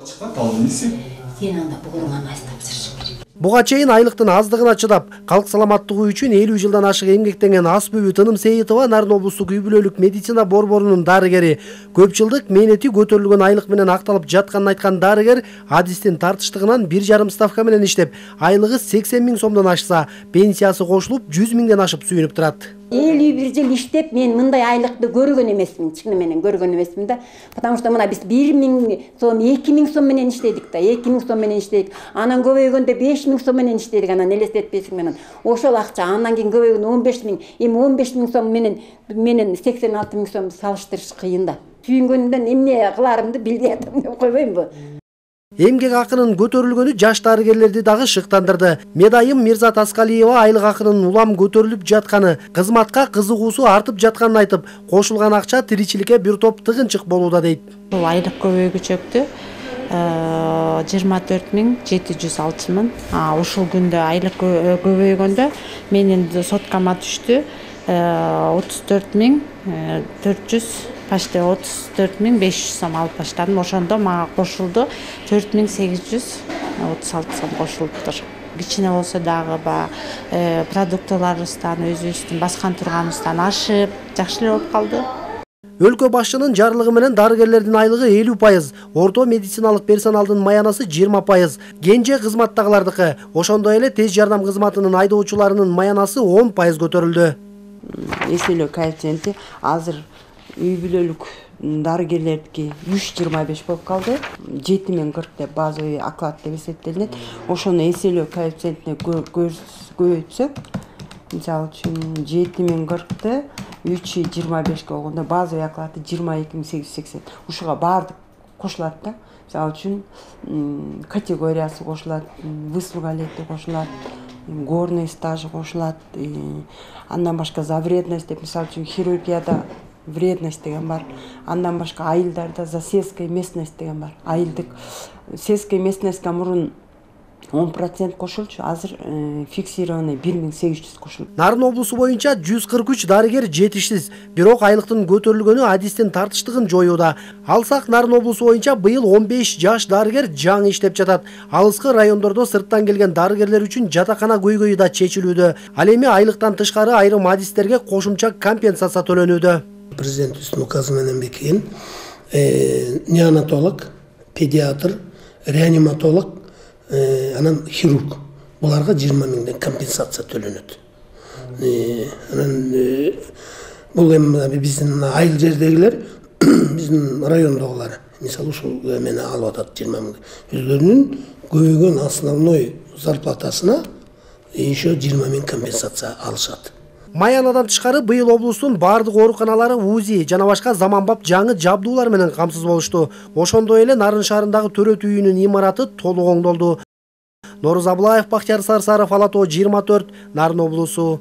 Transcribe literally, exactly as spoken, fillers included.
Сен анда бугуруңан айыз тапшырышың керек. Буга чейин айлыктын аздыгына чыдап, калк саламаттыгы үчүн элүү жылдан ашык эмгектенген Асбүбү Тыным Сейитова Нарын облустук үй бүлөлүк медицина борборунун дарыгери. Көп жылдык мээнети көтөрүлгөн айлык менен акталып жатканын айткан дарыгер адистин тартыштыгынан бир жарым ставка менен иштеп, айлыгы сексен миң сомдон ашса, пенсиясы кошулуп жүз миңден ашып сүйүнүп турат. элүү бир жыл иштеп мен мындай айлыкты көргөн эмесмин, чын менен көргөн эмесмин да. Потому что мына биз бир миң сом, эки миң сом менен иштедик да, эки миң сом менен иштедик. Анан көбөйгөндө беш миң сом менен иштедик, анан элестетпесиң менен. Ошол акча андан кийин көбөйгөндө он беш миң, эми он беш миң сом менен менен сексен алты миң сомду салыштырыш кыйын да. Сүйүнгөндөн эмне кыларымды билбей атам деп койбоймбу. Эмгек акынын көтөрүлгөнү жаш дарыгерлерди дагы шыктандырды. Медайым Мирза Таскалиева айлык акынын улам көтөрүлүп жатканы, кызматка кызыгуусу артып жатканын айтып, кошулган акча тиричиликке бир топ тыгынчык болууда дейт. Бул айлык көбөйгүчөктү жыйырма төрт миң жети жүз алтымын. Ушул күндө айлык көбөйгөндө менин соткама түштү отуз төрт миң төрт жүз, почти отуз төрт миң беш жүз сом алып баштадым. Ошондо мага кошулду төрт миң сегиз жүз отуз алты сом кошулуптур. Кичине болсо дагы баягы продуктыларыбыздан, өзүбүздүн баскан турганыбыздан ашып, жакшы эле болуп калды. Өлкө башчынын жарлыгы менен дарыгерлердин айлыгы элүү пайыз, орто медициналык персоналдын маянасы жыйырма пайыз, кенже кызматтагылардыкы, ошондой эле тез жардам кызматынын айдоочуларынын маянасы он пайыз көтөрүлдү. Эселөө коэффициенти азыр үй бүлөлүк дарыгерлердики үч жыйырма беш болуп калды. жети миң кырк деп базовый оклад деп эсептелинет. Ошону эселөө коэффициентине көбөйтсөк, мисалы үчүн жети миң кыркты үч жыйырма бешке болгондо базовый оклады жыйырма эки миң сегиз жүз сексен. Ушуга баардык кошулат да. Мисалы үчүн категориясы кошулат, выслуга лети кошулат, горный стажы кошулат, андан башка за вредность деп, мисалы үчүн хирургияда вредность деген бар. Андан башка айылдарда за сельская местность деген бар. Айылдык сельская местностька мурун он процент кошулчу, азыр фиксированный бир миң сегиз жүз кошулду. Нарын облусу боюнча жүз кырк үч дарыгер жетишсиз, бирок айлыктын көтөрүлгөнү адистин тартыштыгын жоюуда. Алсак Нарын облусу боюнча быйыл он беш жаш дарыгер жаңы иштеп жатат. Алыскы райондордо сырттан келген дарыгерлер үчүн жатакана көйгөйү да чечилүүдө. Ал эми айлыктан тышкары айрым адистерге кошумча компенсация төлөнүүдө. Президенттин указы менен бекиген неонатолог, педиатр, реаниматолог, анан хирург. Буларга жыйырма миңден компенсация төлөнөт. Анан бул эми биздин айыл жердегилер, биздин райондогулар, мисалы ушул эмени алып атат жыйырма миң. Өздөрүнүн көбөйгөн основной зарплатасына еще жыйырма миң компенсация алышат. Маянадан тышкары быйыл облустун бардык ооруканалары УЗИ жана башка заманбап жаңы жабдуулар менен камсыз болушту. Ошондой эле Нарын шаарындагы төрөт үйүнүн имараты толук оңдолду. Норuz Абылаев, Бактияр Сарсаров, Ала тоо жыйырма төрт, Нарын облусу.